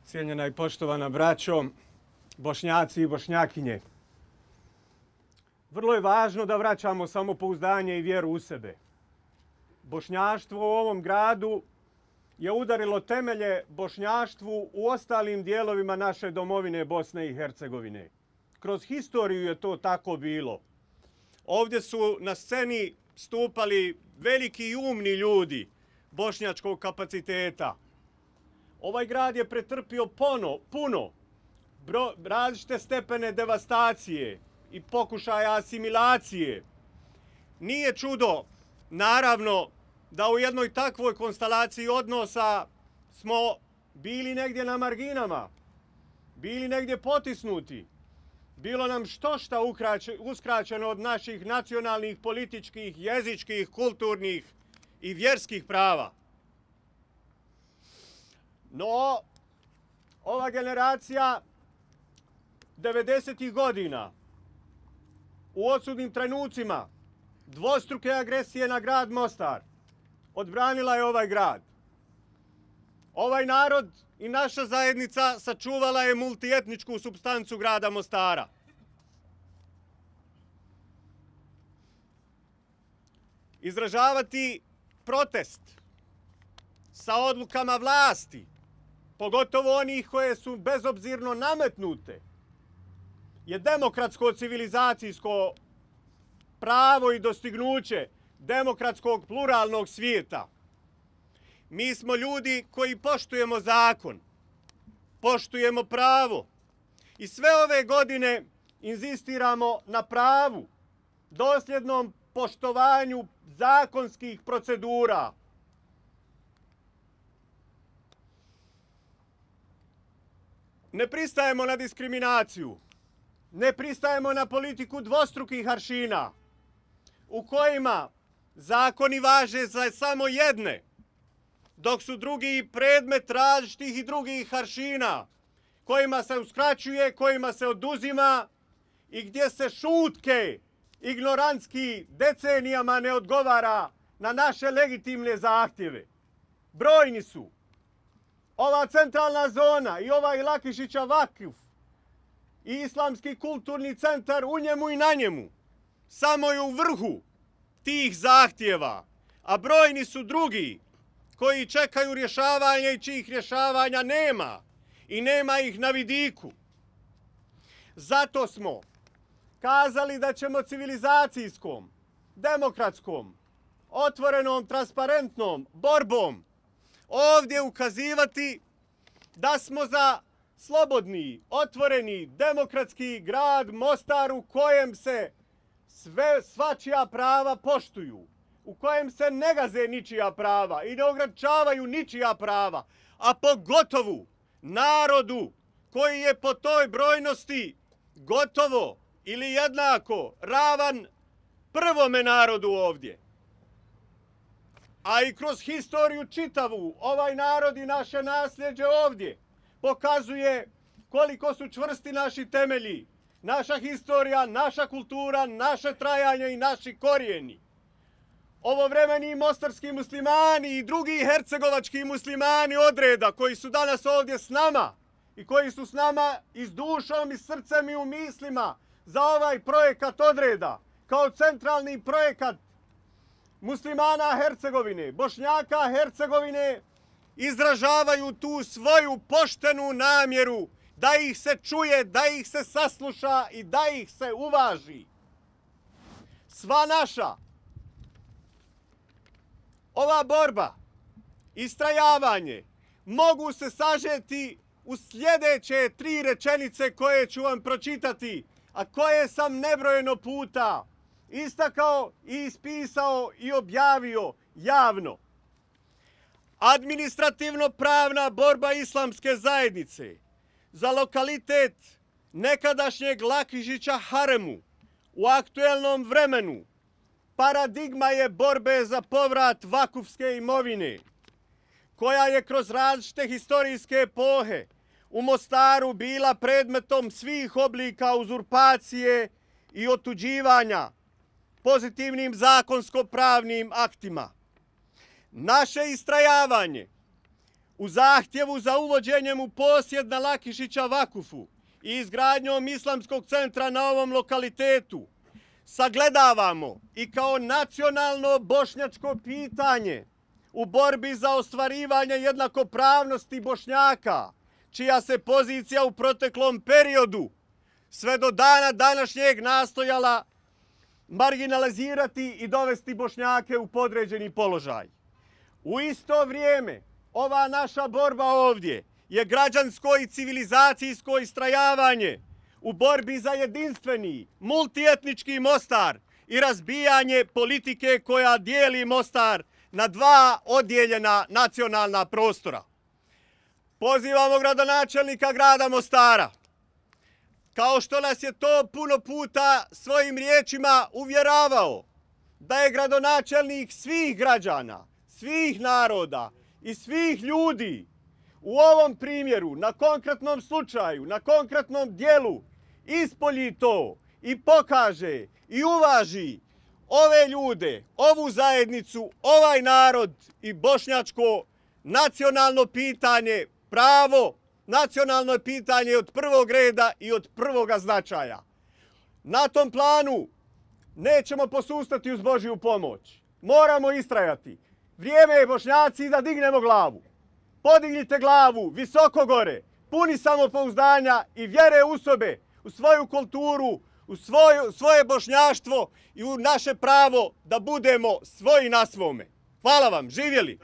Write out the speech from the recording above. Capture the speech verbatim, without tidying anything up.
Cijenjena i poštovana braćo, Bošnjaci i Bošnjakinje. Vrlo je važno da vraćamo samopouzdanje i vjeru u sebe. Bošnjaštvo u ovom gradu je udarilo temelje bošnjaštvu u ostalim dijelovima naše domovine Bosne i Hercegovine. Kroz historiju je to tako bilo. Ovdje su na sceni stupali veliki i umni ljudi bošnjačkog kapaciteta. Ovaj grad je pretrpio pono, puno bro, različite stepene devastacije i pokušaja asimilacije. Nije čudo, naravno, da u jednoj takvoj konstelaciji odnosa smo bili negdje na marginama, bili negdje potisnuti. Bilo nam što šta uskraćeno od naših nacionalnih, političkih, jezičkih, kulturnih i vjerskih prava. No, ova generacija devedesetih godina u odsudnim trenucima dvostruke agresije na grad Mostar odbranila je ovaj grad. Ovaj narod i naša zajednica sačuvala je multietničku supstancu grada Mostara. Izražavati protest sa odlukama vlasti, pogotovo onih koje su bezobzirno nametnute, je demokratsko civilizacijsko pravo i dostignuće demokratskog pluralnog svijeta. Mi smo ljudi koji poštujemo zakon, poštujemo pravo i sve ove godine inzistiramo na pravu, dosljednom poštovanju zakonskih procedura. Ne pristajemo na diskriminaciju, ne pristajemo na politiku dvostrukih aršina u kojima zakoni važe za samo jedne, dok su drugi predmet različitih i drugih aršina, kojima se uskraćuje, kojima se oduzima i gdje se šutke ignorantski decenijama ne odgovara na naše legitimne zahtjeve. Brojni su. Ova centralna zona i ovaj Lakišića Vakuf i Islamski kulturni centar u njemu i na njemu samo je u vrhu tih zahtjeva, a brojni su drugi koji čekaju rješavanje i čijih rješavanja nema i nema ih na vidiku. Zato smo kazali da ćemo civilizacijskom, demokratskom, otvorenom, transparentnom borbom ovdje ukazivati da smo za slobodni, otvoreni, demokratski grad Mostar u kojem se sve svačija prava poštuju, u kojem se ne gaze ničija prava i ne ograničavaju ničija prava, a pogotovo narodu koji je po toj brojnosti gotovo ili jednako ravan prvome narodu ovdje. A i kroz historiju čitavu ovaj narod i naše nasljeđe ovdje pokazuje koliko su čvrsti naši temelji, naša historija, naša kultura, naše trajanje i naši korijeni. Ovovremeni mostarski muslimani i drugi hercegovački muslimani odreda koji su danas ovdje s nama i koji su s nama i s dušom i srcem i u mislima za ovaj projekat odreda kao centralni projekat muslimana Hercegovine, Bošnjaka Hercegovine, izražavaju tu svoju poštenu namjeru da ih se čuje, da ih se sasluša i da ih se uvaži. Sva naša ova borba, istrajavanje mogu se sažeti u sljedeće tri rečenice koje ću vam pročitati, a koje sam nebrojeno puta istakao i ispisao i objavio javno. Administrativno-pravna borba islamske zajednice za lokalitet nekadašnjeg Lakišića Haremu u aktuelnom vremenu paradigma je borbe za povrat vakufske imovine, koja je kroz različite historijske epohe u Mostaru bila predmetom svih oblika uzurpacije i otuđivanja pozitivnim zakonsko-pravnim aktima. Naše istrajavanje u zahtjevu za uvođenjem u posjed na Lakišića Vakufu i izgradnjom islamskog centra na ovom lokalitetu sagledavamo i kao nacionalno bošnjačko pitanje u borbi za ostvarivanje jednakopravnosti Bošnjaka, čija se pozicija u proteklom periodu sve do dana današnjeg nastojala marginalizirati i dovesti Bošnjake u podređeni položaj. U isto vrijeme, ova naša borba ovdje je građansko i civilizacijsko istrajavanje u borbi za jedinstveni, multietnički Mostar i razbijanje politike koja dijeli Mostar na dva odjeljena nacionalna prostora. Pozivamo gradonačelnika grada Mostara, kao što nas je to puno puta svojim riječima uvjeravao, da je gradonačelnik svih građana, svih naroda i svih ljudi. U ovom primjeru, na konkretnom slučaju, na konkretnom dijelu, ispolji to i pokaže i uvaži ove ljude, ovu zajednicu, ovaj narod i bošnjačko nacionalno pitanje, pravo, nacionalno pitanje od prvog reda i od prvoga značaja. Na tom planu nećemo posustati uz Božju pomoć. Moramo istrajati. Vrijeme je, Bošnjaci, da dignemo glavu. Podignite glavu visoko gore, puni samopouzdanja i vjere u sebe, u svoju kulturu, u svoju, svoje bošnjaštvo i u naše pravo da budemo svoji na svome. Hvala vam, živjeli!